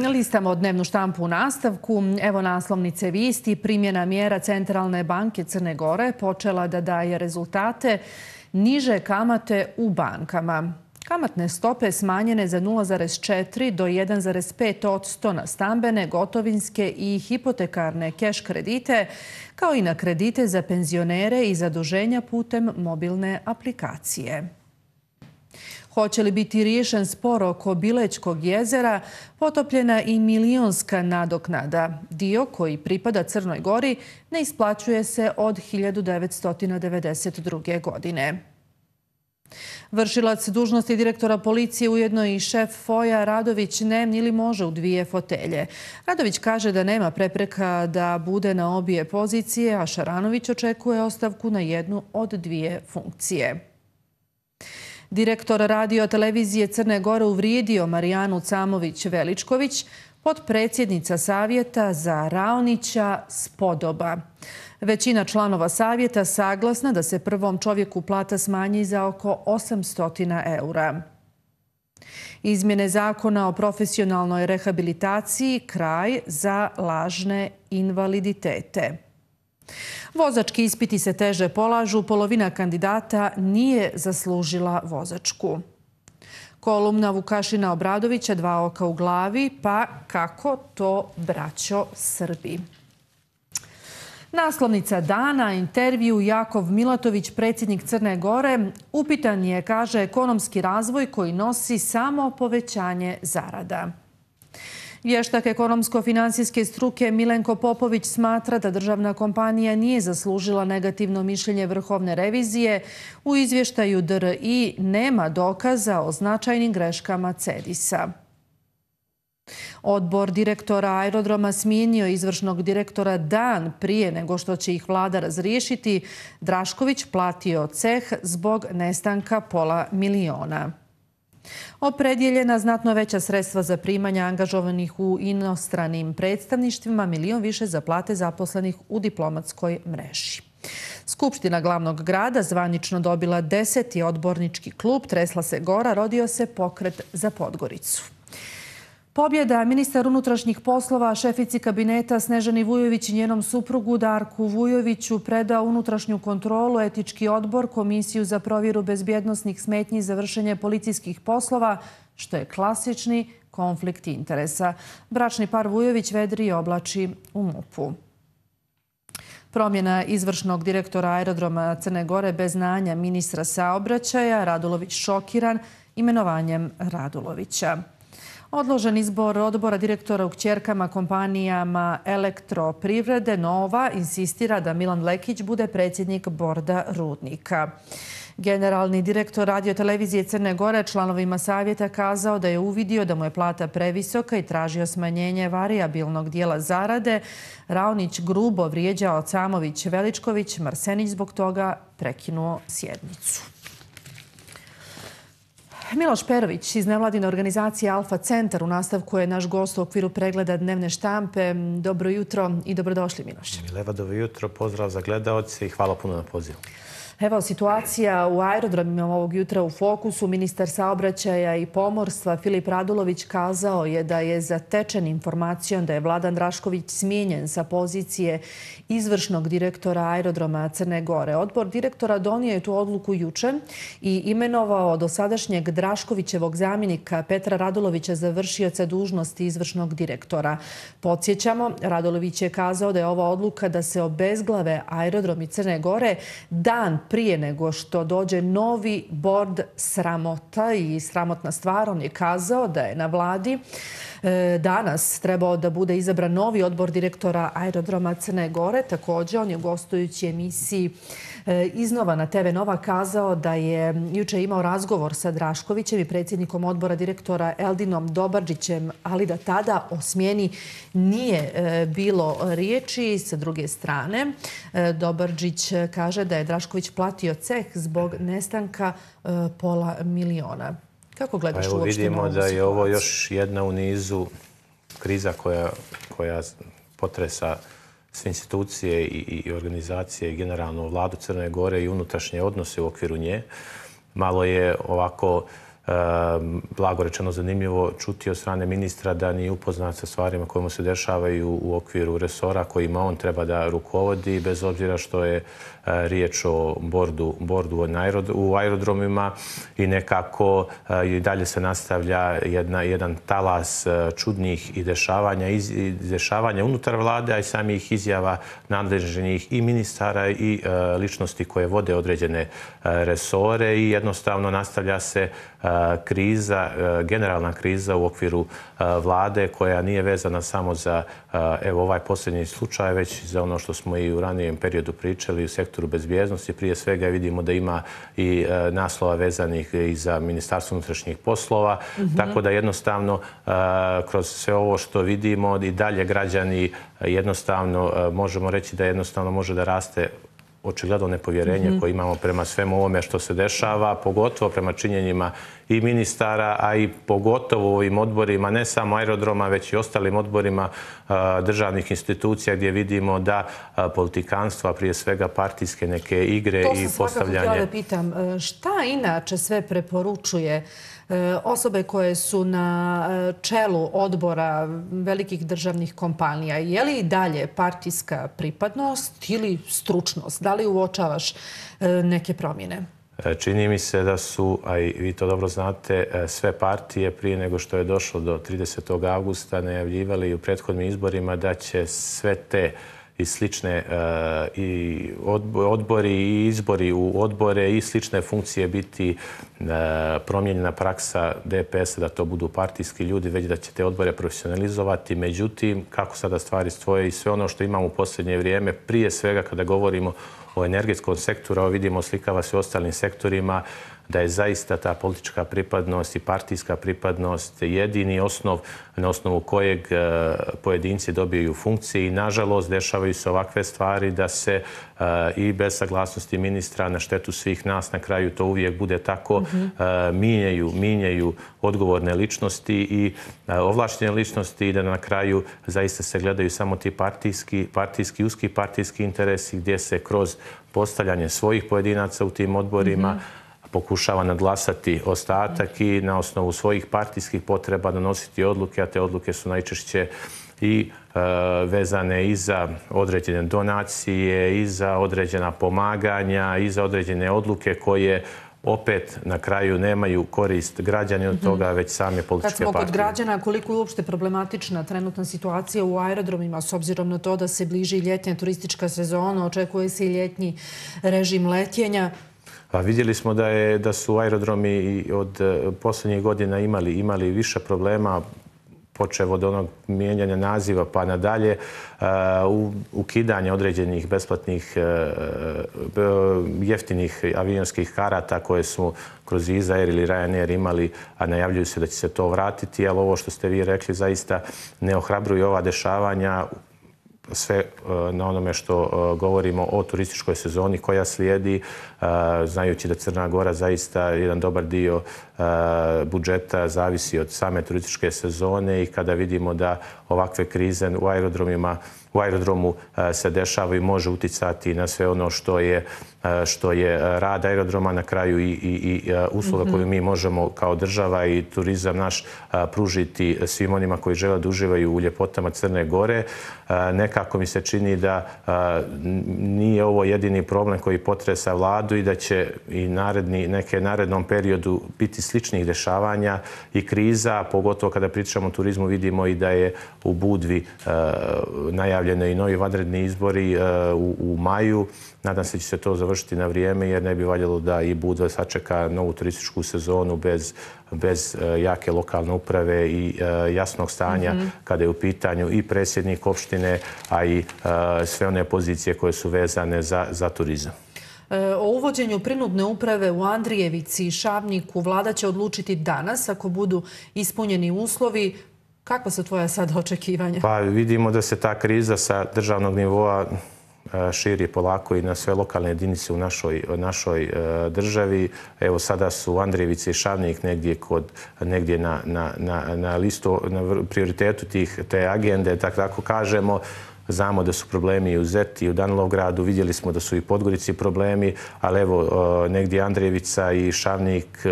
Listamo dnevnu štampu u nastavku. Evo naslovnice vijesti. Primjena mjera Centralne banke Crne Gore počela da daje rezultate. Niže kamate u bankama. Kamatne stope smanjene za 0,4 do 1,5% na stambene, gotovinske i hipotekarne keš kredite, kao i na kredite za penzionere i zaduženja putem mobilne aplikacije. Hoće li biti riješen spor oko Bilećkog jezera, potopljena i milionska nadoknada. Dio koji pripada Crnoj Gori ne isplaćuje se od 1992. godine. Vršilac dužnosti direktora policije, ujedno i šef FOI-a Radović ne ili može u dvije fotelje. Radović kaže da nema prepreka da bude na obje pozicije, a Šaranović očekuje ostavku na jednu od dvije funkcije. Direktor radio televizije Crne Gore uvrijedio Marijanu Camović-Veličković, potpredsjednica savjeta za Raonića Spodoba. Većina članova savjeta saglasna da se prvom čovjeku plata smanji za oko 800 eura. Izmjene zakona o profesionalnoj rehabilitaciji kraj za lažne invaliditete. Vozački ispiti se teže polažu, polovina kandidata nije zaslužila vozačku. Kolumna Vukašina Obradovića, dva oka u glavi, pa kako to braćo Srbi. Naslovnica dana, intervju Jakov Milatović, predsjednik Crne Gore, upitan je, kaže, ekonomski razvoj koji nosi samo povećanje zarada. Vještak ekonomsko-finansijske struke Milenko Popović smatra da državna kompanija nije zaslužila negativno mišljenje Vrhovne revizije. U izvještaju DRI nema dokaza o značajnim greškama CEDIS-a. Odbor direktora aerodroma smijenio izvršnog direktora dan prije nego što će ih vlada razriješiti. Drašković platio ceh zbog nestanka $500.000. Opredjeljena znatno veća sredstva za primanja angažovanih u inostranim predstavništvima, $1 milion više za plate zaposlenih u diplomatskoj mreži. Skupština glavnog grada zvanično dobila 10. odbornički klub, tresla se gora, rodio se pokret za Podgoricu. Pobjeda. Ministar unutrašnjih poslova šefici kabineta Snežani Vujović i njenom suprugu Darku Vujoviću predao unutrašnju kontrolu, etički odbor, komisiju za provjeru bezbjednosnih smetnji za vršenje policijskih poslova, što je klasični konflikt interesa. Bračni par Vujović vedri i oblači u MUP-u. Promjena izvršnog direktora aerodroma Crne Gore bez znanja ministra saobraćaja, Radulović šokiran imenovanjem Radulovića. Odložen izbor odbora direktora u kćerkama kompanijama Elektroprivrede. Nova insistira da Milan Lekić bude predsjednik borda Rudnika. Generalni direktor radiotelevizije Crne Gore članovima savjeta kazao da je uvidio da mu je plata previsoka i tražio smanjenje varijabilnog dijela zarade. Raonić grubo vrijeđao Camović-Veličković, Marsenić zbog toga prekinuo sjednicu. Miloš Perović iz nevladine organizacije Alfa Centar u nastavku je naš gost u okviru pregleda dnevne štampe. Dobro jutro i dobrodošli, Miloš. Mileva, dobro jutro, pozdrav za gledaoce i hvala puno na pozivu. Evo, situacija u aerodromima ovog jutra u fokusu. Ministar saobraćaja i pomorstva Filip Radulović kazao je da je zatečen informacijom da je Vladan Drašković smijenjen sa pozicije izvršnog direktora aerodroma Crne Gore. Odbor direktora donio je tu odluku juče i imenovao dosadašnjeg Draškovićevog zamjenika Petra Radulovića za vršioca dužnosti izvršnog direktora. Podsjećamo, Radulović je kazao da je ova odluka da se obezglave aerodromi Crne Gore dan prije nego što dođe novi bord sramota i sramotna stvar. On je kazao da je na vladi danas trebao da bude izabran novi odbor direktora aerodroma Crne Gore. Također, on je u gostujući emisiji iznova na TV Nova kazao da je juče imao razgovor sa Draškovićem i predsjednikom odbora direktora Eldinom Dobarđićem, ali da tada o smjeni nije bilo riječi. Sa druge strane, Dobarđić kaže da je Drašković platio ceh zbog nestanka $500.000. Kako gledaš uopšte na ovu situaciju? Vidimo da je ovo još jedna u nizu kriza koja potresa sve institucije i organizacije i generalno vladu Crne Gore i unutrašnje odnose u okviru nje. Malo je ovako blago rečeno zanimljivo čuti od strane ministra da nije upoznat sa stvarima koje mu se dešavaju u okviru resora kojima on treba da rukovodi, bez obzira što je riječ o bordu u aerodromima i nekako i dalje se nastavlja jedan talas čudnih dešavanja unutar vlade, a i samih izjava nadležnih i ministara i ličnosti koje vode određene resore i jednostavno nastavlja se kriza, generalna kriza u okviru vlade koja nije vezana samo za ovaj posljednji slučaj, već za ono što smo i u ranijem periodu pričali u sektoru bezbjednosti. Prije svega vidimo da ima i naslova vezanih i za Ministarstvo unutrašnjih poslova, tako da jednostavno kroz sve ovo što vidimo i dalje građani jednostavno možemo reći da jednostavno može da raste očigledno nepovjerenje koje imamo prema svemu ovome što se dešava, pogotovo prema činjenjima i ministara, a i pogotovo u ovim odborima, ne samo aerodroma, već i ostalim odborima državnih institucija gdje vidimo da politikanstva, prije svega partijske neke igre i postavljanje... To sam svakako htjela da pitam. Šta inače sve preporučuje osobe koje su na čelu odbora velikih državnih kompanija? Je li i dalje partijska pripadnost ili stručnost? Da li uočavaš neke promjene? Čini mi se da su, a i vi to dobro znate, sve partije prije nego što je došlo do 30. augusta najavljivali u prethodnim izborima da će sve te i slične i odbori i izbori u odbore i slične funkcije biti promijenjena praksa DPS-a da to budu partijski ljudi, već da će te odbore profesionalizovati. Međutim, kako sada stvari stoje i sve ono što imamo u posljednje vrijeme, prije svega kada govorimo o energetskom sektoru, a vidimo slikava se u ostalim sektorima, da je zaista ta politička pripadnost i partijska pripadnost jedini osnov na osnovu kojeg pojedinci dobiju funkcije i nažalost dešavaju se ovakve stvari da se i bez saglasnosti ministra na štetu svih nas, na kraju to uvijek bude tako, mijenjaju odgovorne ličnosti i ovlaštene ličnosti i da na kraju zaista se gledaju samo ti uski partijski interesi gdje se kroz postavljanje svojih pojedinaca u tim odborima pokušava nadglasati ostatak i na osnovu svojih partijskih potreba donositi odluke, a te odluke su najčešće i vezane i za određene donacije, i za određena pomaganja, i za određene odluke koje opet na kraju nemaju korist građani od toga, već same političke partije. Kad smo kod građana, koliko je uopšte problematična trenutna situacija u aerodromima, s obzirom na to da se bliži ljetnja turistička sezona, očekuje se i ljetnji režim letenja? Vidjeli smo da su aerodromi od posljednjih godina imali više problema, počev od onog mijenjanja naziva pa nadalje, ukidanje određenih besplatnih jeftinih avionskih karata koje smo kroz Izair ili Ryanair imali, a najavljuju se da će se to vratiti, ali ovo što ste vi rekli zaista ne ohrabruje ova dešavanja, sve na onome što govorimo o turističkoj sezoni koja slijedi, znajući da Crna Gora zaista jedan dobar dio budžeta zavisi od same turističke sezone i kada vidimo da ovakve krize u aerodromu se dešava i može uticati na sve ono što je rad aerodroma, na kraju i usluga koju mi možemo kao država i turizam naš pružiti svim onima koji žele da uživaju u ljepotama Crne Gore. Nekako mi se čini da nije ovo jedini problem koji potresa vladu i da će i narednom periodu biti sličnih dešavanja i kriza, pogotovo kada pričamo o turizmu vidimo i da je u Budvi najavljeno i novi vanredni izbori u maju. Nadam se da će se to završiti na vrijeme jer ne bi valjalo da i Budva sačeka novu turističku sezonu bez jake lokalne uprave i jasnog stanja kada je u pitanju i predsjednik opštine, a i sve one pozicije koje su vezane za turizam. O uvođenju prinudne uprave u Andrijevici i Šabniku vlada će odlučiti danas ako budu ispunjeni uslovi. Kakva su tvoja sada očekivanja? Pa vidimo da se ta kriza sa državnog nivoa širi polako i na sve lokalne jedinice u našoj državi. Evo sada su Andrijevica i Šabnik negdje na listu, na prioritetu te agende, tako kažemo. Znamo da su problemi i u Zeti i u Danilovgradu, vidjeli smo da su i Podgorici problemi, ali evo negdje Andrijevica i Šabnik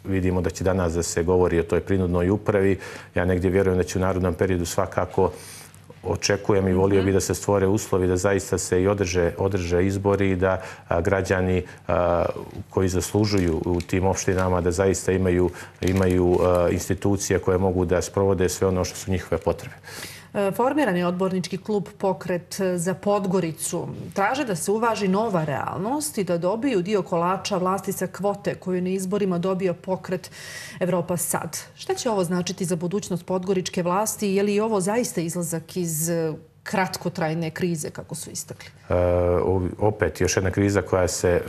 vidimo da će danas da se govori o toj prinudnoj upravi. Ja negdje vjerujem da će u narednom periodu svakako očekujem i volio bi da se stvore uslovi da zaista se i održe izbori i da građani koji zaslužuju u tim opštinama da zaista imaju institucije koje mogu da sprovode sve ono što su njihove potrebe. Formiran je odbornički klub Pokret za Podgoricu. Traže da se uvaži nova realnost i da dobiju dio kolača vlasti sa kvote koju je na izborima dobio Pokret Evropa sad. Šta će ovo značiti za budućnost podgoričke vlasti? Je li ovo zaista izlazak iz kratkotrajne krize, kako su istakli? Opet još jedna kriza koja se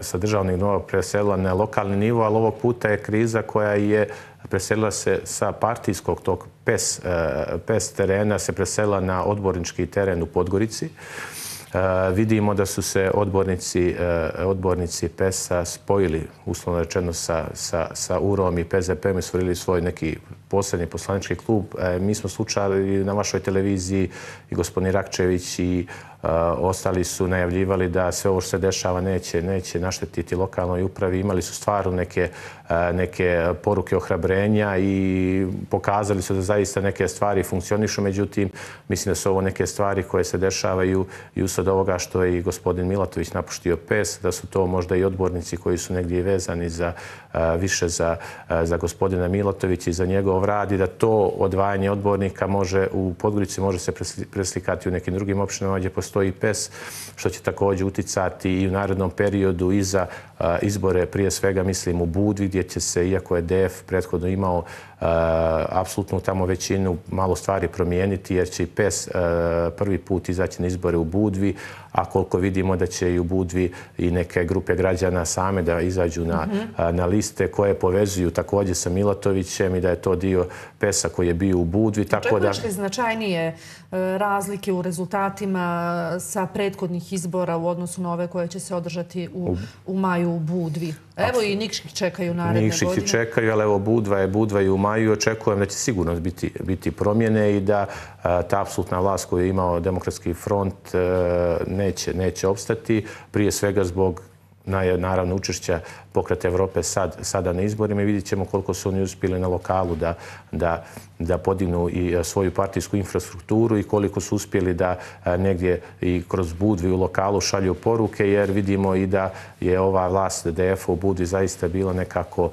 sa državnih nivoa preselila na lokalni nivo, ali ovog puta je kriza koja je preselila se sa partijskog tog PES terena, se preselila na odbornički teren u Podgorici. Vidimo da su se odbornici PES-a spojili, uslovno rečeno, sa URO-om i PZP-om i stvorili svoj neki posebni poslanički klub. Mi smo slušali na vašoj televiziji i gospodin Rakčević i ostali su najavljivali da sve ovo što se dešava neće naštetiti lokalnoj upravi. Imali su stvarno neke poruke ohrabrenja i pokazali su da zaista neke stvari funkcionišu. Međutim, mislim da su ovo neke stvari koje se dešavaju i usred ovoga što je i gospodin Milatović napuštio PES, da su to možda i odbornici koji su negdje vezani više za gospodina Milatovića i za njegov rad i da to odvajanje odbornika u Podgorici može se preslikati u nekim drugim opštinama gdje postoji PES, što će također uticati i u narednom periodu i za izbore, prije svega mislim u Budvi, gdje će se, iako je DF prethodno imao apsolutnu tamo većinu, malo stvari promijeniti, jer će i PES prvi put izaći na izbore u Budvi, a koliko vidimo da će i u Budvi i neke grupe građana same da izađu na liste koje povezuju također sa Milatovićem i da je to dio PES-a koji je bio u Budvi. Očekuješ li značajnije razlike u rezultatima sa prethodnih izbora u odnosu na ove koje će se održati u maju u Budvi? Evo i Nikšić čekaju naredne godine. Nikšić čekaju, ali evo Budva je u maju i očekujem da će sigurno biti promjene i da ta apsolutna vlast koju je imao Demokratski front neće opstati. Prije svega zbog naravno učešća Pokreta Evrope sada na izborima i vidjet ćemo koliko su oni uspjeli na lokalu da podignu i svoju partijsku infrastrukturu i koliko su uspjeli da negdje i kroz Budvi u lokalu šalju poruke, jer vidimo i da je ova vlast DF-a u Budvi zaista bila nekako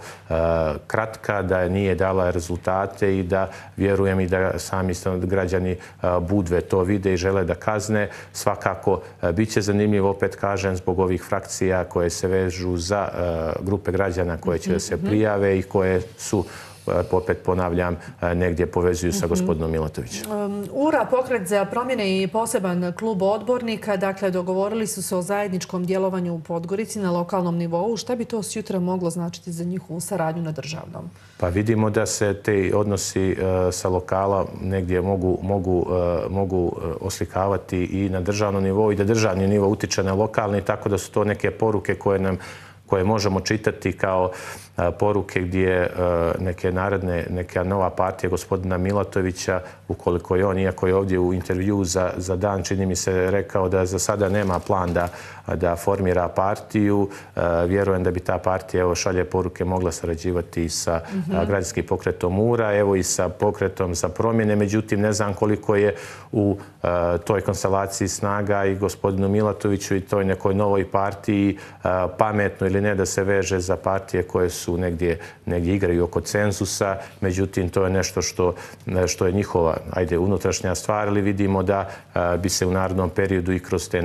kratka, da nije dala rezultate i da vjerujem i da sami građani Budve to vide i žele da kazne. Svakako bit će zanimljivo, opet kažem, zbog ovih frakcija koje se vežu za grupe građana koje će da se prijave i koje su, opet ponavljam, negdje povezuju sa gospodinom Milatovićem. URA, Pokret za promjene i poseban klub odbornika, dakle, dogovorili su se o zajedničkom djelovanju u Podgorici na lokalnom nivou. Šta bi to sutra moglo značiti za njihovu saradnju na državnom? Pa vidimo da se te odnosi sa lokala negdje mogu oslikavati i na državnom nivou i da državni nivo utiče na lokalni, tako da su to neke poruke koje možemo čitati kao poruke gdje neka nova partija gospodina Milatovića, ukoliko je on, iako je ovdje u intervju za Dan, čini mi se, rekao da za sada nema plan da formira partiju. Vjerujem da bi ta partija, šalje poruke, mogla sarađivati i sa građanskim pokretom URA, evo i sa pokretom za promjene. Međutim, ne znam koliko je u toj konstelaciji snaga i gospodinu Milatoviću i toj nekoj novoj partiji pametno ili ne da se veže za partije koje su negdje igraju oko cenzusa. Međutim, to je nešto što je njihova unutrašnja stvar, ali vidimo da bi se u narednom periodu i kroz te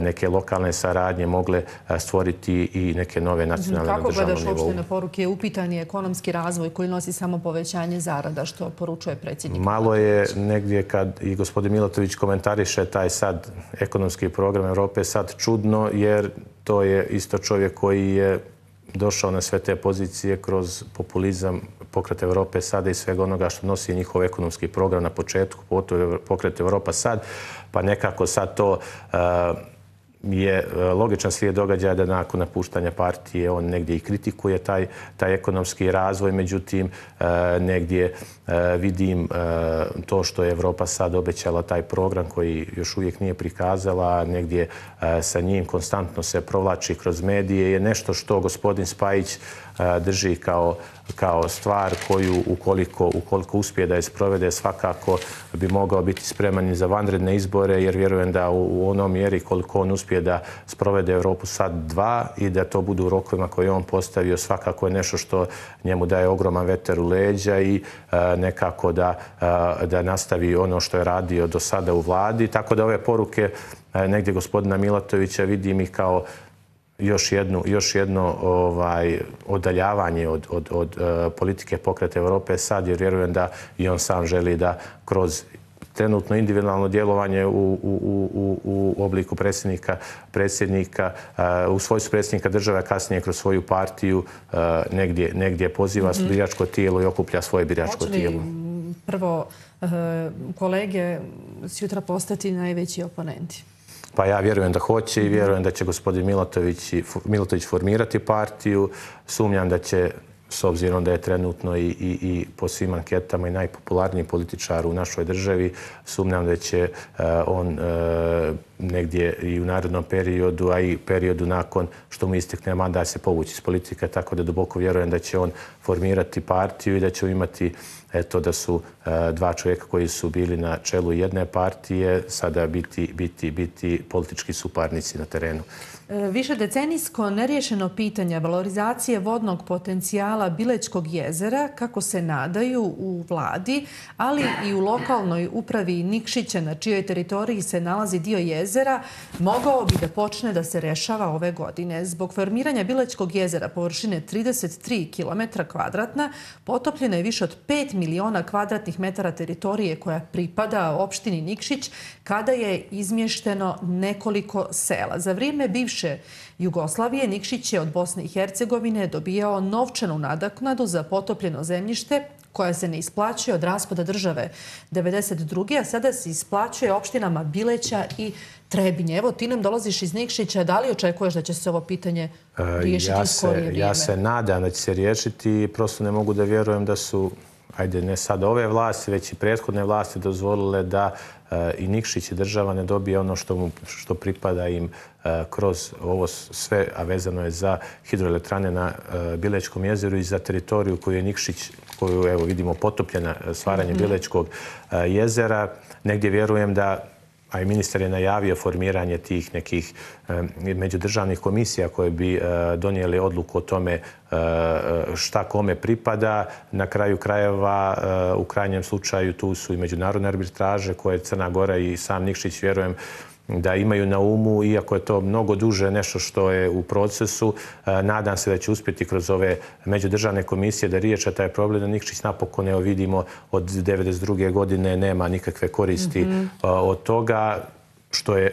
neke lokalne saradnje mogle stvoriti i neke nove nacionalne na državnom nivou. Kako gledaš uopštene poruke? Upitan je ekonomski razvoj koji nosi samo povećanje zarada, što poručuje predsjednik. Malo je negdje kad i gospodin Milatović komentariše taj sad ekonomski program Evrope sad čudno, jer to je isto čovjek koji je došao na sve te pozicije kroz populizam Pokret Evrope sada i svega onoga što nosi njihov ekonomski program na početku, Pokret Evropa sad, pa nekako sad to je logičan slijed događaja da nakon napuštanja partije on negdje i kritikuje taj ekonomski razvoj. Međutim, negdje vidim to što je Evropa sad obećala, taj program koji još uvijek nije prikazala, negdje sa njim konstantno se provlači kroz medije, je nešto što gospodin Spajić drži kao stvar koju ukoliko uspije da je sprovede svakako bi mogao biti spreman i za vanredne izbore, jer vjerujem da u onom mjeri koliko on uspije da sprovede Europu sad 2 i da to budu u rokovima koje on postavio, svakako je nešto što njemu daje ogroman vetar u leđa i nekako da nastavi ono što je radio do sada u vladi. Tako da ove poruke negdje gospodina Milatovića vidim i kao još jedno odaljavanje od politike Pokreta Europe sad, jer vjerujem da i on sam želi da kroz trenutno individualno djelovanje u obliku predsjednika, u svojstvu predsjednika države, kasnije kroz svoju partiju negdje poziva biračko tijelo i okuplja svoje biračko tijelo. Prvo, kolege sutra postati najveći oponenti? Pa ja vjerujem da hoće i vjerujem da će gospodin Milatović formirati partiju. Sumnjam da će, s obzirom da je trenutno i po svim anketama i najpopularniji političar u našoj državi, sumnjam da će on negdje i u narednom periodu, a i periodu nakon što mu istekne mandat se povući iz politike, tako da duboko vjerujem da će on formirati partiju i da će imati da su 2 čovjeka koji su bili na čelu jedne partije sada biti politički suparnici na terenu. Višedecenijsko neriješeno pitanje valorizacije vodnog potencijala Bilećkog jezera, kako se nadaju u vladi, ali i u lokalnoj upravi Nikšića, na čijoj teritoriji se nalazi dio jezera, mogao bi da počne da se rešava ove godine. Zbog formiranja Bilećkog jezera površine 33 km2 potopljeno je više od 5 miliona kvadratnih metara teritorije koja pripada opštini Nikšić, kada je izmješteno nekoliko sela. Za vrijeme bivše Jugoslavije Nikšić je od Bosne i Hercegovine dobijao novčanu nadoknadu za potopljeno zemljište koja se ne isplaćuje od raspada države 1992. a sada se isplaćuje opštinama Bileća i Trebinje. Evo, ti nam dolaziš iz Nikšića. Da li očekuješ da će se ovo pitanje riješiti u skorije vrijeme? Ja se nadam da će se riješiti i prosto ne mogu da vjerujem da su, ajde ne sad ove vlasti, već i prethodne vlasti dozvolile da i Nikšić i država ne dobije ono što pripada im kroz ovo sve, a vezano je za hidroelektrane na Bilećkom jezeru i za teritoriju koju je Nikšić, koju evo vidimo potopljena stvaranje Bilećkog jezera. Negdje vjerujem da, a i ministar je najavio formiranje tih nekih međudržavnih komisija koje bi donijeli odluku o tome šta kome pripada. Na kraju krajeva, u krajnjem slučaju, tu su i međunarodne arbitraže koje Crna Gora i sam Nikšić, vjerujem, da imaju na umu, iako je to mnogo duže nešto što je u procesu. Nadam se da će uspjeti kroz ove međudržavne komisije da riješe taj problem. Da Nikšić napokon, evo vidimo, od 1992. godine nema nikakve koristi od toga.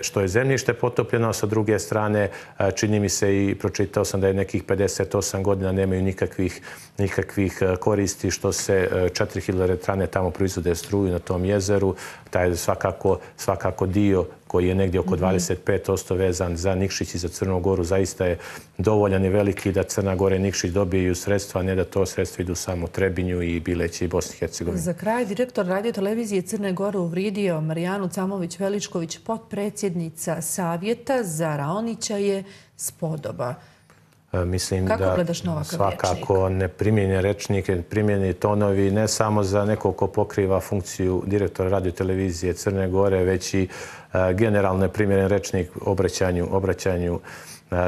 Što je zemljište potopljeno, sa druge strane čini mi se i pročitao sam da je nekih 58 godina nemaju nikakvih koristi, što se 4 hidroelektrane tamo proizvode struju na tom jezeru. Taj je svakako dio koji je negdje oko 25% vezan za Nikšić i za Crnu Goru, zaista je dovoljan i veliki da Crna Gora i Nikšić dobiju sredstva, ne da to sredstva idu samo Trebinju i Bileći i Bosni i Hercegovini. Za kraj, direktor radiotelevizije Crne Gore uvrijedio Marijanu Camović-Veličković, potpredsjednica Savjeta za Raonića je spodoba. Mislim da svakako neprimjenjen rečnik, neprimjenjeni tonovi, ne samo za nekog ko pokriva funkciju direktora radiotelevizije Crne Gore, već i generalno neprimjeren rečnik obraćanju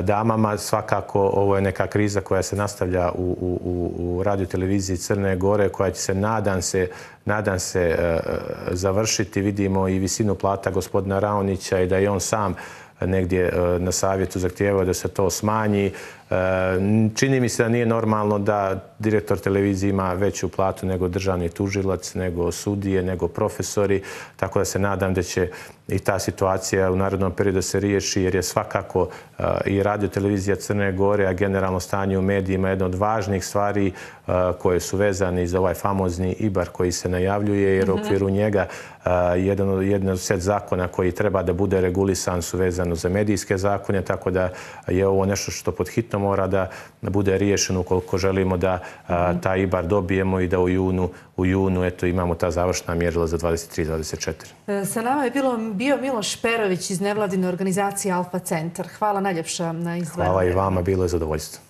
damama. Svakako ovo je neka kriza koja se nastavlja u radioteleviziji Crne Gore, koja će se, nadam se, završiti. Vidimo i visinu plata gospodina Raonića i da je on sam negdje na savjetu zahtijevao da se to smanji. Čini mi se da nije normalno da direktor televizije ima veću platu nego državni tužilac, nego sudije, nego profesori. Tako da se nadam da će i ta situacija u narednom periodu se riješi, jer je svakako i radiotelevizija Crne Gore, a generalno stanje u medijima jedna od važnih stvari koje su vezane za ovaj famozni IBAR koji se najavljuje, jer u okviru njega jedan od set zakona koji treba da bude regulisan su vezano za medijske zakone, tako da je ovo nešto što pod hitno mora da bude riješeno ukoliko želimo da taj IBAR dobijemo i da u junu imamo ta završna mjerila za 23-24. Sa nama je bio Miloš Perović iz nevladine organizacije Alfa Centar. Hvala najljepša na izdvajanju. Hvala i vama, bilo je zadovoljstvo.